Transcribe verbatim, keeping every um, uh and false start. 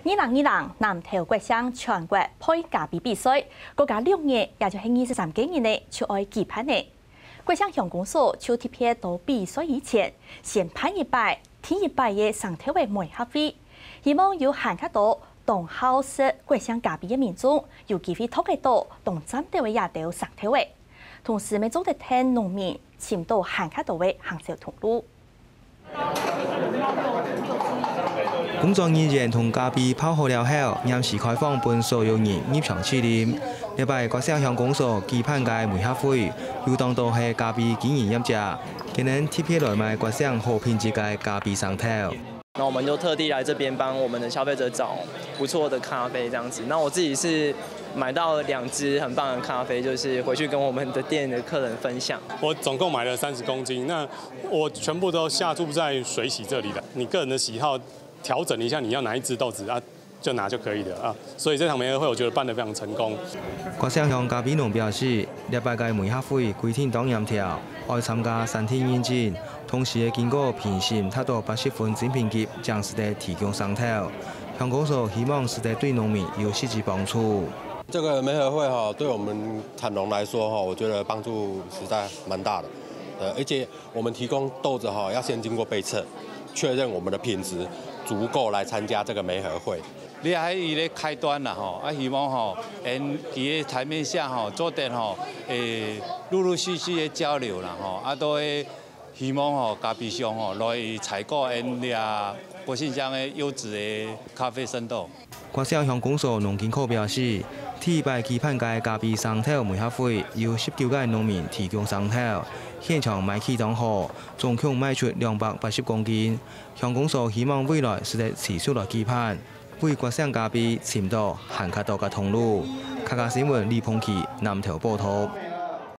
二零二零南投國姓全國焙咖啡比賽，過加兩日，也就係二十三个日呢，就愛舉辦呢。國姓鄉公所就特別到比賽以前，先辦一擺，第一擺个生豆个媒合會，希望有還較多當好食國姓咖啡个民眾，有機會擇得到當讚兜个這兜生豆仔。同時，乜做得㧯農民尋到還較多个行銷通路。 工作人員同咖啡泡好了後，臨時開放分所有人入場試啉。這擺國姓鄉公所舉辦个媒合會，有當多係咖啡經營業者，佢等特別來買國姓好品質个咖啡生豆。那我們就特地來這邊幫我們的消費者找不錯的咖啡這樣子。那我自己是買到兩支很棒的咖啡，就是回去跟我們的店的客人分享。我總共買了三十公斤，那我全部都下注在水洗這裡的。你個人的喜好調整一下，你要哪一支豆子啊，就拿就可以了啊。所以這場媒合會我覺得辦得非常成功。國姓鄉咖啡農表示，這擺个媒合會規定當嚴條，愛參加產地認證，同時愛經過評審達到八十分精品級，正使得提供生豆。鄉公所希望使得對農民有實質幫助。這個媒合會哈，對我們產農來說哈，我覺得幫助實在蠻大的。呃，而且我們提供豆子哈，要先經過杯測，確認我們的品質足夠來參加這個媒合會。這係一個開端啦吼，啊，希望吼，𠊎佢个台面下吼，做得吼，會陸陸續續个交流啦吼，啊，都會希望吼，咖啡商吼，來採購𠊎這國姓鄉个優質个咖啡生豆。 國姓鄉公所農經科表示，第一擺舉辦个咖啡生豆媒合會有十九个農民提供生豆，現場賣氣當好，總共賣出兩百八十公斤。鄉公所希望未來使得持續來舉辦，為國姓咖啡尋到還較多个通路。客家新聞李鵬奇南投報導。